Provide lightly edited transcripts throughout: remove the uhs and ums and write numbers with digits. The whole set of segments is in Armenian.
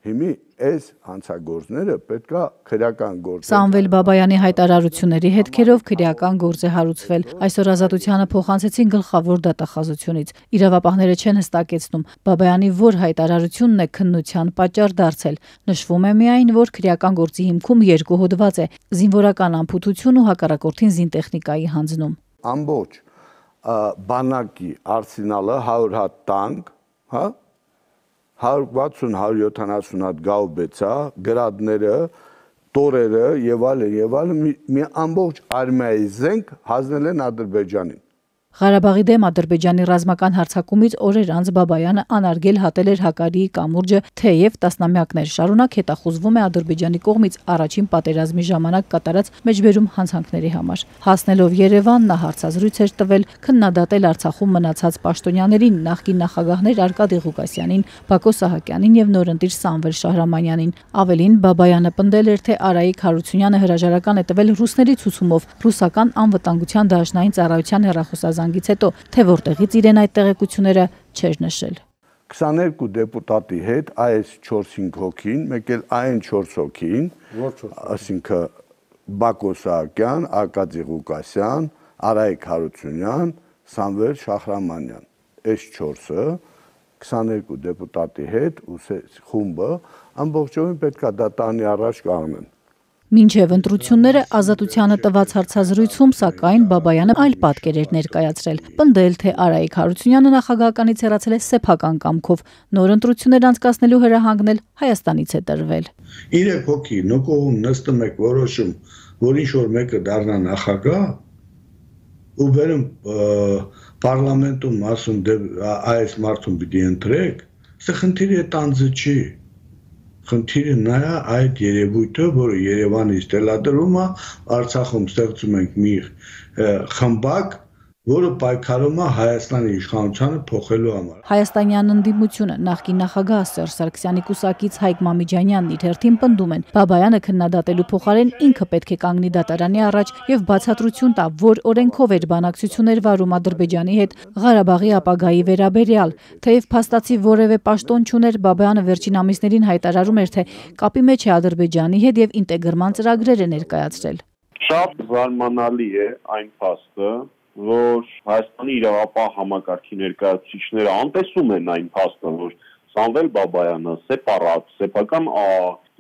Հիմի այս հանցագործները պետքա քրեական գործ։ Սամվել Բաբայանի հայտարարությունների հետքերով քրեական գործ է հարուցվել։ Այսօր Ազատությանը փոխանցեցին գլխավոր դատախազությունից։ Իրավապահները չեն հստակեցնում Բաբայանի որ հայտարարությունն է քննության պատճառ դարձել։ Նշվում է միայն, որ քրեական գործի հիմքում երկու հոդված է՝ զինվորական անփութություն ու հակառակորդին զինտեխնիկայի հանձնում։ Ամբողջ բանակի արսենալը 100 հատ տանկ, հա 160-170 հատ գաուբեցա, գրադները, տորերը եւ այլն մի ամբողջ արմիայի զենք հանձնել են Ադրբեջանին։ Ղարաբաղի դեմ Ադրբեջանի ռազմական հարձակումից օրեր անց Բաբայանը անարգել հատել էր Հակարիի կամուրջը, թեև տասնամյակներ շարունակ հետախուզվում է Ադրբեջանի կողմից առաջին պատերազմի ժամանակ կատարած մեջբերում հանցանքների համար։ Հասնելով Երևան նա հարցազրույց էր տվել, քննադատել Արցախում մնացած պաշտոնյաներին, նախկին նախագահներ Արկադի Ղուկասյանին, Բակո Սահակյանին եւ նորընտիր Սամվել Շահրամանյանին։ Ավելին Բաբայանը պնդել էր, թե Արայիկ Հարությունյանը հրաժարական է տվել ռուսների ցուցումով ռուսական անվտանգության դաշնային ծառայության հեռախոսազանգից հետո, թե որտեղից իրեն այդ տեղեկությունները չէր նշել։ 22 դեպուտատի հետ այս 4-5 հոգին, մեկ էլ այն 4 հոգին, այսինքն Բակո Սահակյան, Արկադի Ղուկասյան, Արայիկ Հարությունյան, Սամվել Շահրամանյան, այս 4-ը 22 դեպուտատի հետ ու խումբը ամբողջովին պետքա դատարանի առաջ կանգնեն։ Մինչև ընտրությունները Ազատությանը տված հարցազրույցում, սակայն Բաբայանը այլ պատկեր էր ներկայացրել, պնդել, թե Արայիկ Հարությունյանը նախագահականից հեռացել է սեփական կամքով, նոր ընտրություններ անցկացնելու հրահանգն էլ Հայաստանից է տրվել։ 3 հոգի նկողում նստում եք որոշում, որ ինչ-որ մեկը դառնա նախագահ, ու վերում պարլամենտում ասում այս մարդուն պիտի ընտրեք, սա խնդիրը տանձը չի։ Խնդիրը նա է այդ երևույթը, որը Երևանից տեղադրում է, Արցախում ստեղծում ենք մի խմբակ, որը պայքարում է Հայաստանի իշխանությանը փոխելու համար։ Հայաստանյան ընդդիմությունը նախկին նախագահ Սերժ Սարգսյանի կուսակից Հայկ Մամիջանյանն իր հերթին պնդում են, Բաբայանը քննադատելու փոխարեն ինքը պետք է կանգնի դատարանի առաջ եւ բացատրություն տա, որ օրենքով էր բանակցություններ վարում Ադրբեջանի հետ Ղարաբաղի ապագայի վերաբերյալ, թեև փաստացի որևէ պաշտոն չուներ, Բաբայանը վերջին ամիսներին հայտարարում էր, թե կապի մեջ է Ադրբեջանի հետ եւ ինտեգրման ծրագրեր է ներկայացրել։ Շատ զարմանալի է այն փաստը, որ Հայաստանի իրավապահ համակարգի ներկայացուցիչները անտեսում են այն փաստը, որ Սամվել Բաբայանը սեփական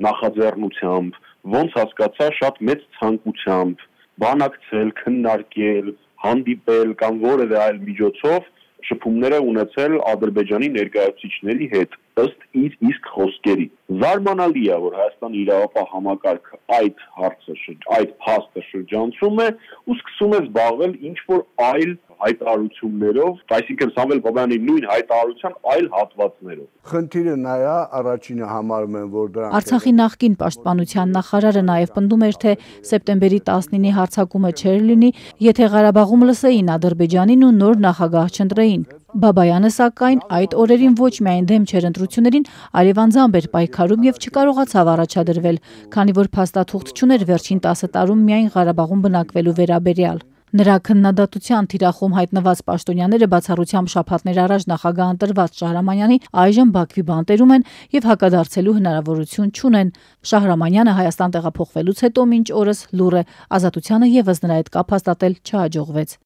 նախաձեռնությամբ, ոնց հասկացա, շատ մեծ ցանկությամբ բանակցել, քննարկել, հանդիպել կամ որևէ այլ միջոցով շփումներ ունեցել Ադրբեջանի ներկայացուցիչների հետ, ըստ իր իսկ խոսքերի։ Զարմանալի է, որ Հայաստանի իրավապահ համակարգը այդ փաստը շրջանցում է ու սկսում է զբաղվել ինչ-որ այլ հայտարարություններով, այսինքն Սամվել Բաբայանի նույն հայտարարության այլ հատվածներով։ Խնդիրը նա է, առաջինը համարում են, որ դրանք Արցախի նախկին պաշտպանության նախարարը նաև պնդում էր, թե սեպտեմբերի 19-ի հարձակումը չէր լինի, եթե Ղարաբաղում լսեին Ադրբեջանին ու նոր նախագահ չընտրեին։ Բաբայանը սակայն այդ օրերին ոչ միայն դեմ չէր ընտրություններին, այլև անձամբ էր պայքարում եւ չկարողացավ առաջադրվել, քանի որ փաստաթուղթ չուներ վերջին 10 տարում միայն Ղարաբաղում բնակվելու վերաբերյալ։ Նրա քննադատության թիրախում հայտնված պաշտոնյաները բացառությամբ շաբաթներ առաջ նախագահ ընտրված Շահրամանյանի այժմ Բաքվի բանտերում են եւ հակադարձելու հնարավորություն չունեն։ Շահրամանյանը Հայաստան տեղափոխվելուց հետո մինչ օրս լուռ է, Ազատությանը եւս նրա հետ կապ հաստատել չհաջողվեց։